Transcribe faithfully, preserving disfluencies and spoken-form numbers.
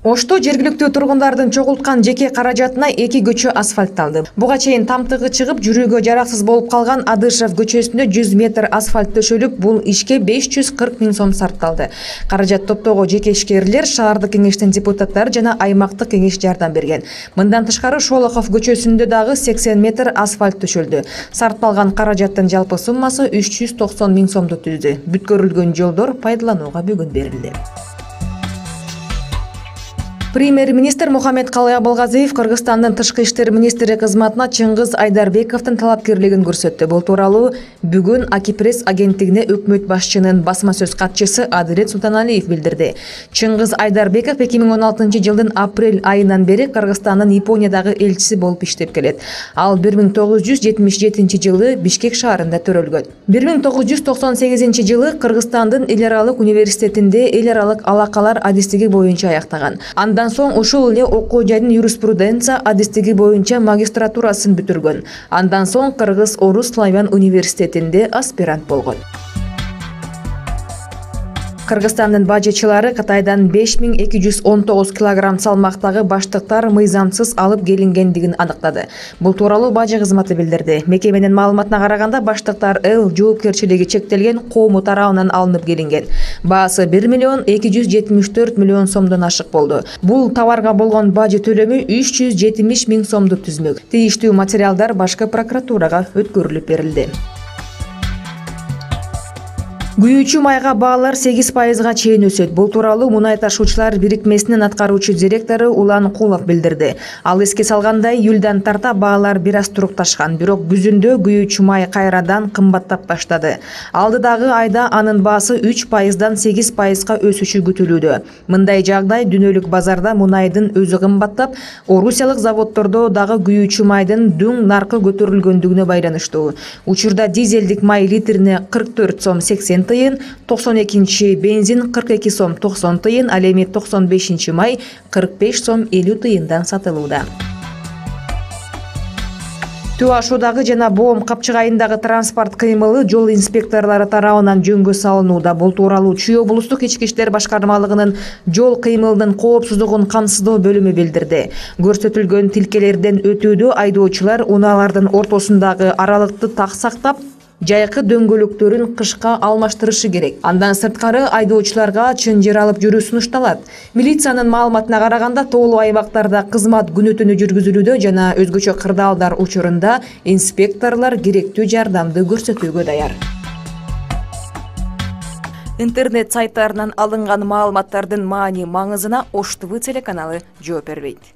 Ошто жергиликтүү тургундардын чогулткан жеке каражатына эки көчө асфальтталды. Буга чейин тамтыгы чыгып, жүрүүгө жараксыз болуп калган Адышев көчөсүндө жүз метр асфальт төшөлүп, бул ишке беш жүз кырк миң сом сарпталды. Каражат топтоого жеке ишкерлер, шаардык кеңештин депутаттары жана аймактык кеңеш жардам берген. Мындан тышкары Шолохов көчөсүндө дагы сексен метр асфальт төшөлдү. Сарпталган каражаттын жалпы суммасы үч жүз токсон миң сомду түздү. Бүткөрүлгөн жолдор пайдаланууга бүгүн берилди. Премьер-министр Мухаммедкалый Абылгазиев Кыргызстандын тышкы иштер министри кызматына Чыңгыз Айдарбековдун талапкерлигин көрсөттү. Бул тууралуу бүгүн Акипресс агенттигине өкмөт башчынын басма сөз катчысы Адилет Султаналиев билдирди. Чыңгыз Айдарбеков эки миң он алтынчы жылдын апрель айынан бери Кыргызстандын Япониядагы элчиси болуп иштеп келет. Ал бир миң тогуз жүз жетимиш жетинчи жылы Бишкек шаарында төрөлгөн. бир миң тогуз жүз токсон сегизинчи жылы Кыргызстандын эл аралык университетинде эл аралык алакалар адистиги боюнча аяктаган. Андан соң ушул эле окуу жайдын юриспруденция адистиги боюнча магистратурасын бүтүргөн. Андан соң Кыргыз-Орус славян университетинде аспирант болгон. Кыргызстандын бажычылары Кытайдан беш миң эки жүз он тогуз килограмм салмактагы баштыктар мыйзамсыз алып келингендигин аныктады. Бул тууралуу бажы кызматы билдирди. Мекеменин маалыматына караганда баштыктар Эл жоопкерчилиги чектелген коому тарабынан алынып келинген. Баасы бир миллион эки жүз жетимиш төрт миллион сомдон ашык болду. Бул товарга болгон бажы төлөмү үч жүз жетимиш миң сомду түзмөк. Тийиштүү материалдар башкы прокуратурага өткөрүлүп берилди. Күйүүчү майга баалар сегиз пайызга чейин өсөт. Бул тууралуу Мунай ташуучулар бирикмесинин аткаруучу директору Улан Кулов билдирди. Ал эске салгандай, июлдан тарта баалар бир аз турукташкан, бирок күзүндө күйүүчү май кайрадан кымбаттап баштады. Алдыдагы айда анын баасы үч пайыздан сегиз пайызга өсүшү күтүлүүдө. Мындай жагдай дүйнөлүк базарда мунайдын өзү кымбаттап, орусиялык заводдордо дагы күйүүчү майдын дүң наркы көтөрүлгөндүгүнө байланыштуу. Учурда дизелдик май литрине кырк төрт сом сексен тыйын, токсон экинчи бензин кырк эки сом токсон тыйын, ал эми токсон бешинчи май кырк беш сом элүү тыйындан сатылууда. Төө Ашуудагы жана Боом Капчыгайындагы транспорт кыймылы жол инспекторлору тарабынан жөнгө салынууда. Бул тууралуу Чүй облустук ички иштер башкармалыгынын жол кыймылынын коопсуздугун камсыздоо бөлүмү билдирди. Көрсөтүлгөн тилкелерден өтүүдө айдоочулар унаалардын ортосундагы аралыкты так сактап, жайкы дөңгөлөктөрүн кышка алмаштырышы керек. Андан сырткары айдоочуларга чынжыр алып жүрүү сунушталат. Милициянын маалыматына караганда, тоолуу аймактарда кызмат күнү түнү жүргүзүлүүдө жана өзгөчө кырдаалдар учурунда инспекторлор керектүү жардамды көрсөтүүгө даяр. Интернет сайттарынан алынган маалыматтардын маани маңызына Ош ТВ телеканалы жооп бербейт.